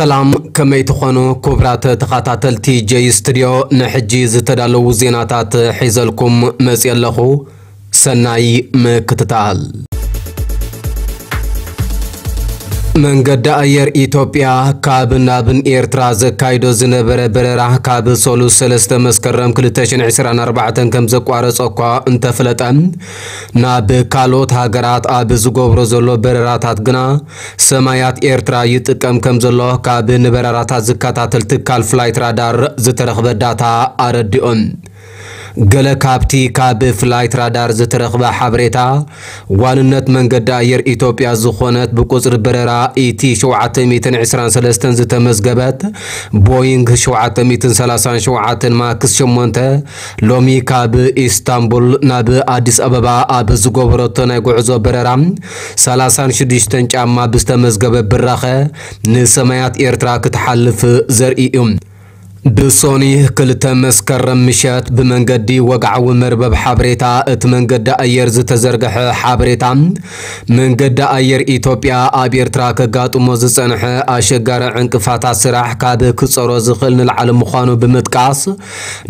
ሰላም፣ ከመይ ትኾኑ ክቡራት ተኸታተልቲ ጀይ ስቱድዮ? ንሕጂ ዝተዳለዉ ዜናታት ሒዘልኩም መፅየ ኣለኹ። ሰናይ ምክትታል። መንገዲ ኣየር ኢትዮጵያ ካብ ናብን ኤርትራ ዘካይዶ ዝነበረ በረራ ካብ ሰሉስ ሰለስተ መስከረም ክልተ ሽሕን ዕስራን ኣርባዕተን ከም ዘቋረጸ እኳ እንተፍለጠ፣ ናብ ካልኦት ሃገራት ኣብ ዝገብሮ ዘሎ በረራታት ግና ሰማያት ኤርትራ ይጥቀም ከም ዘሎ ካብ ንበረራታት ዝከታተል ትካል ፍላይት ራዳር ዝተረኽበ ዳታ ኣረዲኦም። ገለ ካብቲ ካብ ፍላይት ራዳር ዝተረኽበ ሓበሬታ፣ ዋንነት መንገዲ ኣየር ኢትዮጵያ ዝኾነት ብቁጽሪ በረራ ኢቲ ሸውዓተ ሚእትን ዕስራን ሰለስተን ዝተመዝገበት ቦይንግ ሸውዓተ ሚእትን ሰላሳን ሸውዓተን ማክስ ሸሞንተ ሎሚ ካብ ኢስታንቡል ናብ ኣዲስ ኣበባ ኣብ ዝገበረቶ ናይ ጉዕዞ በረራ ሰላሳን ሽዱሽተን ጫማ ብዝተመዝገበ ብራኸ ንሰማያት ኤርትራ ክትሓልፍ ዘርኢ እዩ። ብሶኒ ክልተ መስከረም ምሸት ብመንገዲ ወግዓዊ መርበብ ሓበሬታ እቲ መንገዲ ኣየር ዝተዘርግሐ ሓበሬታ፣ መንገዲ ኣየር ኢትዮጵያ ኣብ ኤርትራ ከጋጥሞ ዝጸንሐ ኣሸጋሪ ዕንቅፋታት ስራሕ ካብ ክጸሮ ዝኽእል ንላዕሊ ምዃኑ ብምጥቃስ፣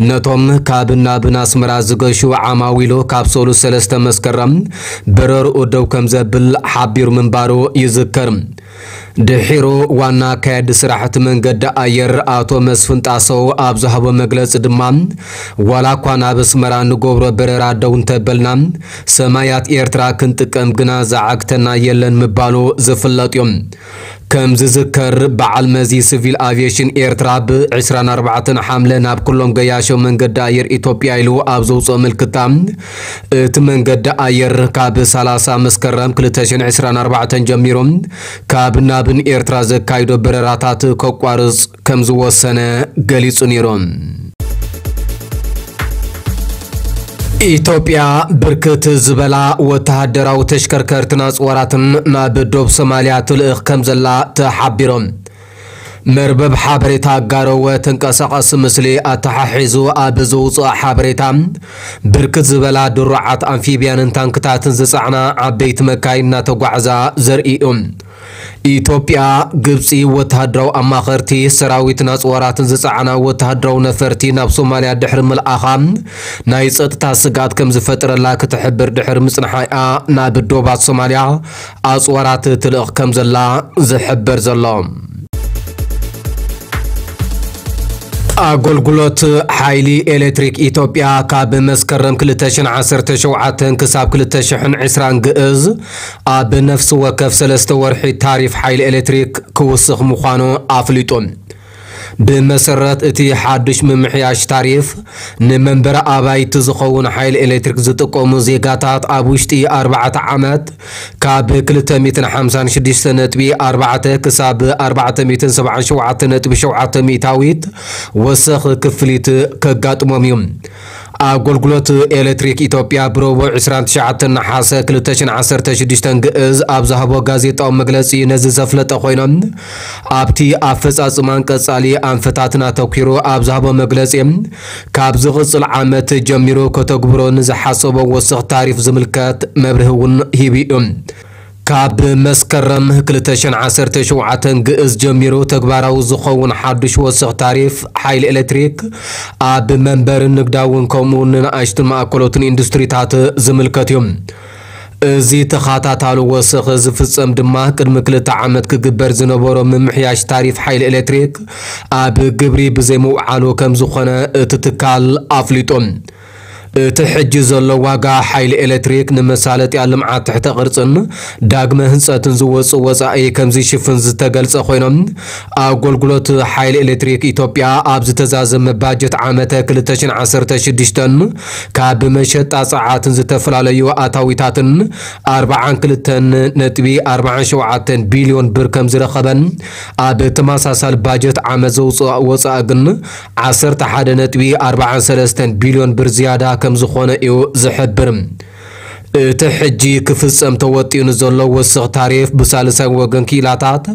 ነቶም ካብ ናብን ኣስመራ ዝገሹ ዓማዊሉ ካብ ሰሉስ ሰለስተ መስከረም በረርኡ ደው ከም ዘብል ሓቢሩ ምንባሩ ይዝከር። ድሒሩ ዋና ኣካያዲ ስራሕ እቲ መንገዲ ኣየር ኣቶ መስፍን ጣሰው ኣብ ዝሃቦ መግለጺ ድማ፣ ዋላ እኳ ናብ ኣስመራ ንገብሮ በረራ ደው እንተበልና፣ ሰማያት ኤርትራ ክንጥቀም ግና ዝዓግተና የለን ምባሉ ዝፍለጥ እዩ። ከም ዝዝከር፣ በዓል መዚ ሲቪል ኣቪየሽን ኤርትራ ብ ዕስራን ኣርባዕተን ሓምለ ናብ ኩሎም ገያሾ መንገዲ ኣየር ኢትዮጵያ ኢሉ ኣብ ዘውፅኦ ምልክታ፣ እቲ መንገዲ ኣየር ካብ ሰላሳ መስከረም ክልተ ሽሕን ዕስራን ኣርባዕተን ጀሚሩ ካብ ናብን ኤርትራ ዘካይዶ በረራታት ከቋርጽ ከም ዝወሰነ ገሊጹ ነይሩ። ኢትዮጵያ ብርክት ዝበላ ወተሃደራዊ ተሽከርከርትን ኣጽዋራትን ናብ ዶብ ሶማልያ ትልእኽ ከም ዘላ ተሓቢሩ። መርበብ ሓበሬታ ጋሮወ ተንቀሳቓሲ ምስሊ ኣተሓሒዙ ኣብ ዘውፅኦ ሓበሬታ፣ ብርክት ዝበላ ድሩዓት ኣምፊብያንን ታንክታትን ዝፀዕና ዓበይቲ መካይን እናተጓዕዛ ዘርኢ እዩ። ኢትዮጵያ፣ ግብፂ ወተሃደራዊ ኣማኸርቲ፣ ሰራዊትን ኣፅዋራትን ዝፀዓና ወተሃደራዊ ነፈርቲ ናብ ሶማልያ ድሕሪ ምልኣኻ ናይ ፀጥታ ስግኣት ከም ዝፈጥረላ ክትሕብር ድሕሪ ምፅንሓ እያ ናብ ዶባት ሶማልያ ኣፅዋራት ትልእኽ ከም ዘላ ዝሕበር ዘሎ። ኣገልግሎት ሓይሊ ኤሌክትሪክ ኢትዮጵያ ካብ መስከረም ክልተ ሽሕን ዓሰርተ ሸውዓተን ክሳብ ክልተ ሽሕን ዕስራን ግእዝ ኣብ ነፍሲ ወከፍ ሰለስተ ወርሒ ታሪፍ ሓይሊ ኤሌክትሪክ ክውስኽ ምዃኑ ኣፍሊጡ። ብመሰረት እቲ ሓዱሽ ምምሕያሽ ታሪፍ፣ ንመንበሪ ኣባይቲ ዝኸውን ሓይሊ ኤሌክትሪክ ዝጥቀሙ ዜጋታት ኣብ ውሽጢ ኣርባዕተ ዓመት ካብ ክልተ ሚእትን ሓምሳን ሽዱሽተ ነጥቢ ኣርባዕተ ክሳብ ኣርባዕተ ሚእትን ሰብዓን ሸውዓተ ነጥቢ ሸውዓተ ሚእታዊት ወሰኽ ክፍሊት ከጋጥሞም እዩ። ኣገልግሎት ኤሌክትሪክ ኢትዮጵያ ብረቡዕ ዕስራን ትሽዓተን ነሓሰ ክልተ ሽሕን ዓሰርተ ሽዱሽተን ግእዝ ኣብ ዝሃቦ ጋዜጣዊ መግለጺ ነዚ ዘፍለጠ ኮይኖም፣ ኣብቲ ኣፈጻጽማን ቀጻሊ ኣንፈታትን ኣተኲሩ ኣብ ዝሃቦ መግለጺ፣ ካብ ዝቕጽል ዓመት ጀሚሩ ከተግብሮ ንዝሓሰቦ ወሰኽ ታሪፍ ዝምልከት መብርሂ እውን ሂቡ እዩ። ካብ መስከረም ክልተ ሽሕን ዓሰርተ ሸውዓተን ግእዝ ጀሚሩ ተግባራዊ ዝኸውን ሓዱሽ ወሰኽ ታሪፍ ሓይሊ ኤሌክትሪክ ኣብ መንበርን ንግዳውን ከምኡ እውን ንንኣሽቱን ማእከሎትን ኢንዱስትሪታት ዝምልከት እዩ። እዚ ተኸታታሊ ወሰኽ ዝፍጸም ድማ ቅድሚ ክልተ ዓመት ክግበር ዝነበሮ ምምሕያሽ ታሪፍ ሓይሊ ኤሌክትሪክ ኣብ ግብሪ ብዘይምውዓሉ ከም ዝኾነ እቲ ትካል ኣፍሊጡ። እቲ ሕጂ ዘሎ ዋጋ ሓይሊ ኤሌክትሪክ ንመሳለጥያ ልምዓት ትሕተ ቅርጽን ዳግመ ህንጸትን ዝወጽእ ወጻኢ ከም ዝሽፍን ዝተገልጸ ኮይኖም፣ ኣገልግሎት ሓይሊ ኤሌክትሪክ ኢትዮጵያ ኣብ ዝተዛዘመ ባጀት ዓመተ ክልተ ሽሕን ዓሰርተ ሽዱሽተን ካብ መሸጣ ጸዓትን ዝተፈላለዩ ኣታዊታትን ኣርባዓን ክልተን ነጥቢ ኣርባዓን ሸውዓተን ቢልዮን ብር ከም ዝረኸበን፣ ኣብ ተመሳሳሊ ባጀት ዓመት ዘውፅኦ ወፃኢ ግን ዓሰርተ ሓደ ነጥቢ ኣርባዓን ሰለስተን ቢልዮን ብር ዝያዳ ከም ዝኾነ እዩ ዝሕብር። እቲ ሕጂ ክፍፀም ተወጢኑ ዘሎ ወስኽ ታሪፍ ብሳልሳይ ወገን ክኢላታት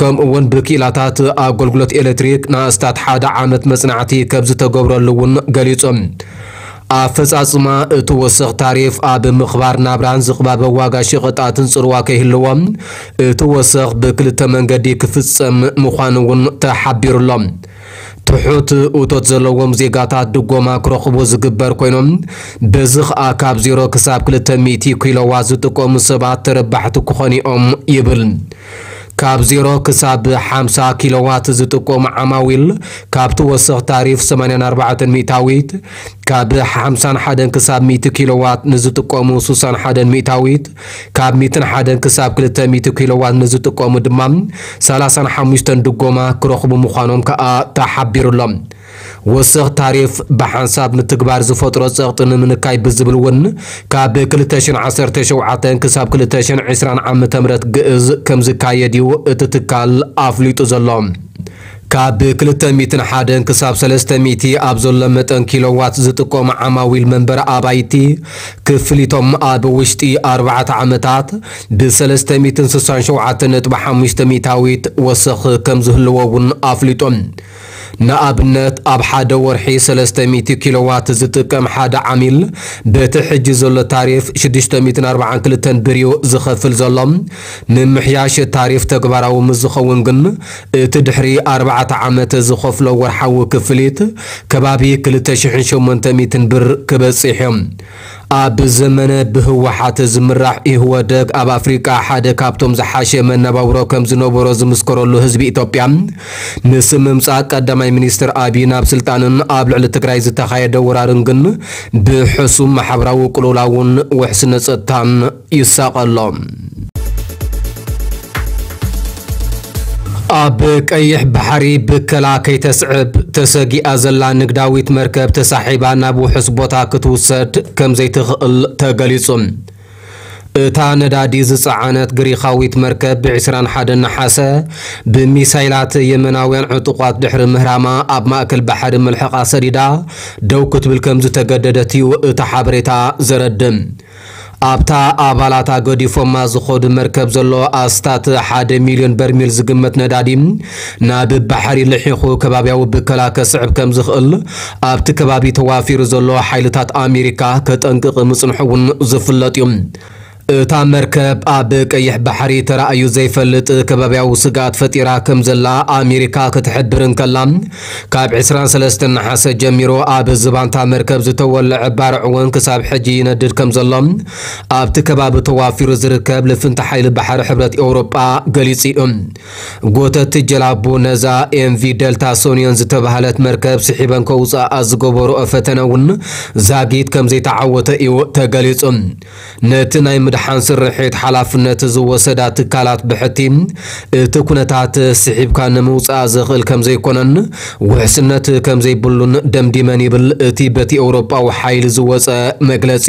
ከምኡ እውን ብክኢላታት ኣገልግሎት ኤሌክትሪክ ንኣስታት ሓደ ዓመት መፅናዕቲ ከም ዝተገብረሉ እውን ገሊፆም። ኣፈጻጽማ እቲ ወሰኽ ታሪፍ ኣብ ምኽባር ናብራን ዝቕባበ ዋጋ ሸቐጣትን ጽልዋ ከይህልዎ፣ እቲ ወሰኽ ብክልተ መንገዲ ክፍጸም ምዃኑ እውን ተሓቢሩሎ። ትሑት እቶት ዘለዎም ዜጋታት ድጎማ ክረኽቡ ዝግበር ኮይኖም፣ በዚ ኸኣ ካብ ዜሮ ክሳብ ክልተ ሚእቲ ኪሎዋት ዝጥቀሙ ሰባት ተረባሕቲ ክኾኑ እዮም ይብል። ካብ ዜሮ ክሳብ ሓምሳ ኪሎዋት ዝጥቀሙ ዓማዊል ካብቲ ወሰኽ ታሪፍ ሰማንያን ኣርባዕተን ሚእታዊት፣ ካብ ሓምሳን ሓደን ክሳብ ሚእቲ ኪሎዋት ንዝጥቀሙ ሱሳን ሓደን ሚእታዊት፣ ካብ ሚእትን ሓደን ክሳብ ክልተ ሚእቲ ኪሎዋት ንዝጥቀሙ ድማ ሰላሳን ሓሙሽተን ድጎማ ክረኽቡ ምዃኖም ከኣ ተሓቢሩሎም። ወሰኽ ታሪፍ ብሓንሳብ ምትግባር ዝፈጥሮ ጸቕጢ ንምንካይ ብዝብል እውን ካብ ክልተ ሽሕን ዓሰርተ ሸውዓተን ክሳብ ክልተ ሽሕን ዕስራን ዓመተ ምህረት ግእዝ ከም ዝካየድ እዩ እቲ ትካል ኣፍሊጡ ዘሎ። ካብ ክልተ ሚእትን ሓደን ክሳብ ሰለስተ ሚእቲ ኣብ ዘሎ መጠን ኪሎዋት ዝጥቀሙ ዓማዊል መንበሪ ኣባይቲ ክፍሊቶም ኣብ ውሽጢ ኣርባዕተ ዓመታት ብሰለስተ ሚእትን ስሳን ሸውዓተን ነጥቢ ሓሙሽተ ሚእታዊት ወሰኽ ከም ዝህልዎ እውን ኣፍሊጦም። ንኣብነት ኣብ ሓደ ወርሒ ሰለስተ ሚእቲ ኪሎዋት ዝጥቀም ሓደ ዓሚል በቲ ሕጂ ዘሎ ታሪፍ ሽዱሽተ ሚእትን ኣርባዓን ክልተን ብር እዩ ዝኸፍል ዘሎ። ምምሕያሽ ታሪፍ ተግባራዊ ምስ ዝኸውን ግን እቲ ድሕሪ ኣርባዕተ ዓመት ዝኸፍሎ ወርሓዊ ክፍሊት ከባቢ ክልተ ሽሕን ሸሞንተ ሚእትን ብር ክበጽሕ እዮም። ኣብ ዘመነ ብህወሓት ዝምራሕ ኢህወደግ ኣብ ኣፍሪቃ ሓደ ካብቶም ዝሓሸ መነባብሮ ከም ዝነበሮ ዝምስከረሉ ህዝቢ ኢትዮጵያ ምስ ምምጻእ ቀዳማይ ሚኒስትር ኣቢይ ናብ ስልጣንን ኣብ ልዕሊ ትግራይ ዝተኻየደ ወራርን ግን ብሕሱም ማሕበራዊ ቅልውላውን ውሕስነት ጸጥታን ይሳቐ ኣሎ። ኣብ ቀይሕ ባሕሪ ብከላ ከይተስዕብ ተሰጊኣ ዘላ ንግዳዊት መርከብ ተሳሒባ ናብ ውሑስ ቦታ ክትውሰድ ከም ዘይትኽእል ተገሊጹ። እታ ነዳዲ ዝጸዓነት ግሪኻዊት መርከብ ብ ዕስራን ሓደን ነሓሰ ብሚሳይላት የመናውያን ዕጡቓት ድሕሪ ምህራማ ኣብ ማእከል ባሕሪ መልሕቓ ሰዲዳ ደው ክትብል ከም ዝተገደደት እዩ እቲ ሓበሬታ ዘረድእ። ኣብታ ኣባላታ ገዲፎማ ዝኸዱ መርከብ ዘሎ ኣስታት ሓደ ሚልዮን በርሚል ዝግመት ነዳዲ ናብ ባሕሪ ልሒኹ ከባብያዊ ብከላ ከስዕብ ከም ዝኽእል ኣብቲ ከባቢ ተዋፊሩ ዘሎ ሓይልታት ኣሜሪካ ከጠንቅቕ ምጽንሑ እውን ዝፍለጥ እዩ። እታ መርከብ ኣብ ቀይሕ ባሕሪ ተራእዩ ዘይፈልጥ ከባብያዊ ስግኣት ፈጢራ ከም ዘላ ኣሜሪካ ክትሕብር እንከላ፣ ካብ ዕስራን ሰለስተን ነሓሰ ጀሚሩ ኣብ ዝባንታ መርከብ ዝተወለዐ ባርዕ እውን ክሳብ ሕጂ ይነድድ ከም ዘሎ ኣብቲ ከባቢ ተዋፊሩ ዝርከብ ልፍንቲ ሓይሊ ባሕሪ ሕብረት ኤውሮጳ ገሊጹ እዩ። ጎተቲ ጀላቡ ነዛ ኤምቪ ደልታ ሶኒዮን ዝተባህለት መርከብ ስሒበን ከውፅኣ ዝገበርኦ ፈተነ እውን ዛጊት ከም ዘይተዓወተ እዩ ተገሊጹ። ነቲ ናይ ምድሓን ስርሒት ሓላፍነት ዝወሰዳ ትካላት ብሕቲ እቲ ኩነታት ስሒብካ ንምውፃእ ዝኽእል ከም ዘይኮነን ውሕስነት ከም ዘይብሉን ደምዲመን ይብል እቲ በቲ ኤውሮጳዊ ሓይሊ ዝወፀ መግለጺ።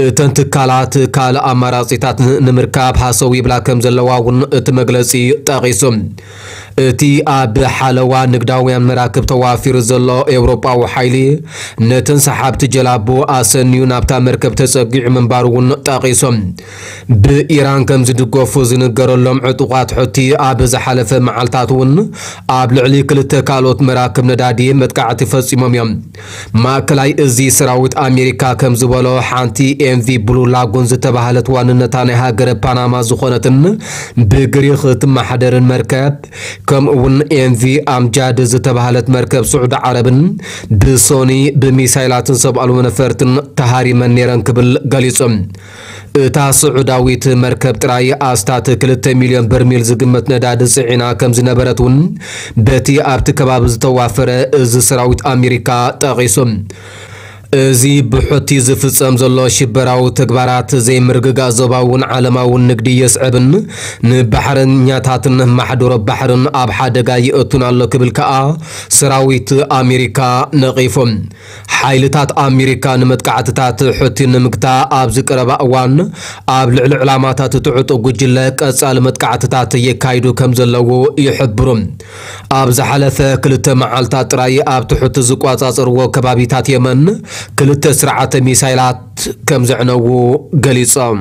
እተን ትካላት ካልእ ኣማራጺታት ንምርካብ ሃሰው ይብላ ከም ዘለዋ እውን እቲ መግለጺ ጠቒሱ። እቲ ኣብ ሓለዋ ንግዳውያን መራክብ ተዋፊሩ ዘሎ ኤውሮጳዊ ሓይሊ ነተን ሰሓብቲ ጀላቡ ኣሰንዩ ናብታ መርከብ ተጸጊዑ ምንባሩ እውን ጠቒሶም። ብኢራን ከም ዝድገፉ ዝንገረሎም ዕጡቓት ሑቲ ኣብ ዝሓለፈ መዓልታት እውን ኣብ ልዕሊ ክልተ ካልኦት መራክብ ነዳዲ መጥቃዕቲ ፈጺሞም እዮም። ማእከላይ እዚ ሰራዊት ኣሜሪካ ከም ዝበሎ ሓንቲ ኤምቪ ብሉ ላጉን ዝተባህለት ዋንነታ ናይ ሃገረ ፓናማ ዝኾነትን ብግሪኽ እትመሓደርን መርከብ ከምኡ እውን ኤምቪ ኣምጃድ ዝተባህለት መርከብ ስዑዲ ዓረብን ብሶኒ ብሚሳይላትን ሰብ ኣልቦ ነፈርትን ተሃሪመን ነይረን ክብል ገሊጹ። እታ ስዑዳዊት መርከብ ጥራይ ኣስታት ክልተ ሚልዮን በርሚል ዝግመት ነዳዲ ጽዒና ከም ዝነበረት እውን በቲ ኣብቲ ከባቢ ዝተዋፈረ እዚ ሰራዊት ኣሜሪካ ጠቒሱ። እዚ ብሑቲ ዝፍጸም ዘሎ ሽበራዊ ተግባራት ዘይምርግጋእ ዞባውን ዓለማውን ንግዲ የስዕብን ንባሕረኛታትን ማሕደሮ ባሕርን ኣብ ሓደጋ ይእቱን ኣሎ ክብል ከኣ ሰራዊት ኣሜሪካ ነቒፉ። ሓይልታት ኣሜሪካ ንመጥቃዕትታት ሑቲ ንምግታ ኣብዚ ቀረባ እዋን ኣብ ልዕሊ ዕላማታት እቲ ዕጡቕ ጉጅለ ቀጻሊ መጥቃዕትታት የካይዱ ከም ዘለዉ ይሕብሩ። ኣብ ዝሓለፈ ክልተ መዓልታት ጥራይ ኣብቲ ሑቲ ዝቆጻጸርዎ ከባቢታት የመን ክልተ ስርዓተ ሚሳይላት ከም ዘዕነዉ ገሊጾም።